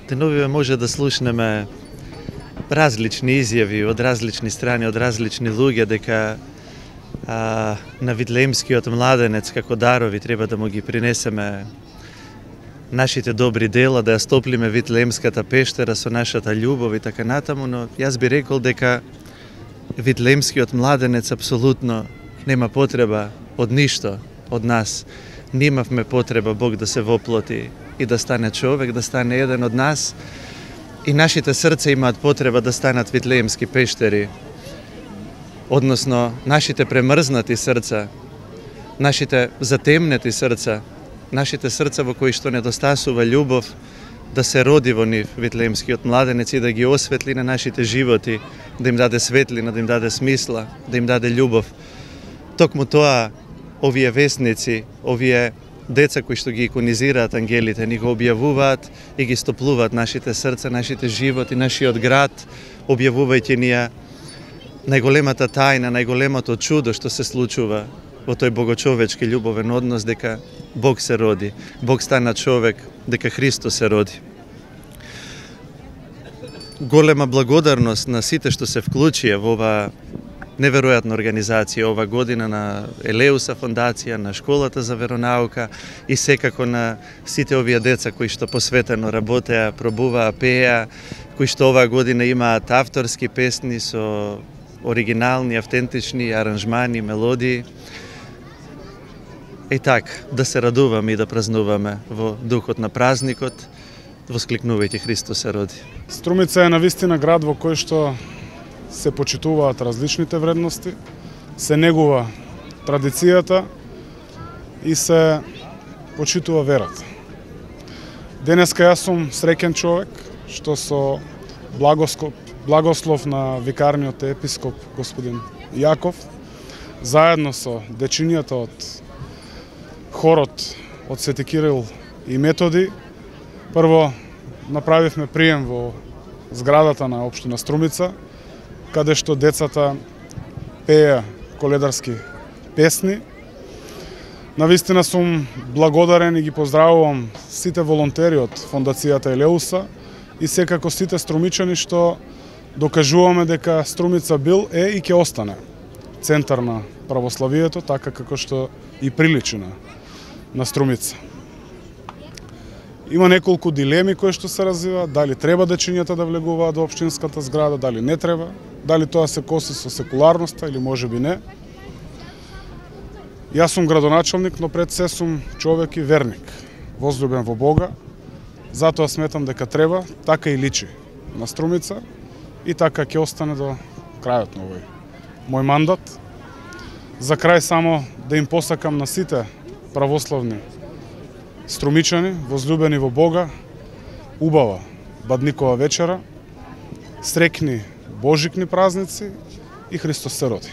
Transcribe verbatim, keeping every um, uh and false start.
Деновиве може да слушнеме различни изјави од различни страни, од различни луѓе, дека а, на Витлеемскиот младенец како дарови треба да му ги принесеме нашите добри дела, да ја стоплиме Витлеемската пештера со нашата љубов и така натаму, но јас би рекол дека Витлеемскиот младенец апсолутно нема потреба од ништо од нас. Немавме потреба Бог да се воплоти и да стане човек, да стане еден од нас. И нашите срца имаат потреба да станат Витлеемски пештери. Односно, нашите премрзнати срца, нашите затемнети срца, нашите срца во кои што недостасува љубов, да се роди во нив Витлеемскиот младенец и да ги осветли на нашите животи, да им даде светлина, да им даде смисла, да им даде љубов. Токму тоа, овие вестници, овие деца кои што ги иконизираат ангелите, ни го објавуваат и ги стоплуваат нашите срца, нашите животи, нашиот град, објавувајќи ни ја најголемата тајна, најголемото чудо што се случува во тој богочовечки љубовен однос, дека Бог се роди, Бог стана човек, дека Христос се роди. Голема благодарност на сите што се вклучија во ова неверојатна организација ова година, на Елеуса фондација, на Школата за веронаука и секако на сите овие деца кои што посветено работеа, пробуваа, пееа, кои што оваа година имаат авторски песни со оригинални, автентични аранжмани, мелодии. И така, да се радуваме и да празнуваме во духот на празникот, воскликнувајќи Христос се роди. Струмица е навистина град во кој што се почитуваат различните вредности, се негува традицијата и се почитува верата. Денеска јас сум среќен човек што со благослов, благослов на викарниот епископ господин Јаков, заедно со дечињата од хорот од Свети Кирил и Методи, прво направивме прием во зградата на општина Струмица, каде што децата пееа коледарски песни. Навистина сум благодарен и ги поздравувам сите волонтери од фондацијата Елеуса и секако сите струмичани што докажуваме дека Струмица бил, е и ќе остане центар на православието, така како што и приличи на, на Струмица. Има неколку дилеми кои што се развиваат, дали треба дечињата да влегуваат во општинската зграда, дали не треба, дали тоа се коси со секуларноста или можеби не. Јас сум градоначалник, но пред се сум човек и верник, возлюбен во Бога, затоа сметам дека треба, така и личи на Струмица и така ќе остане до крајот на овој мој мандат. За крај само да им посакам на сите православни струмичани, возлюбени во Бога, убава Бадникова вечера, среќни божикни празници и Христос се роди.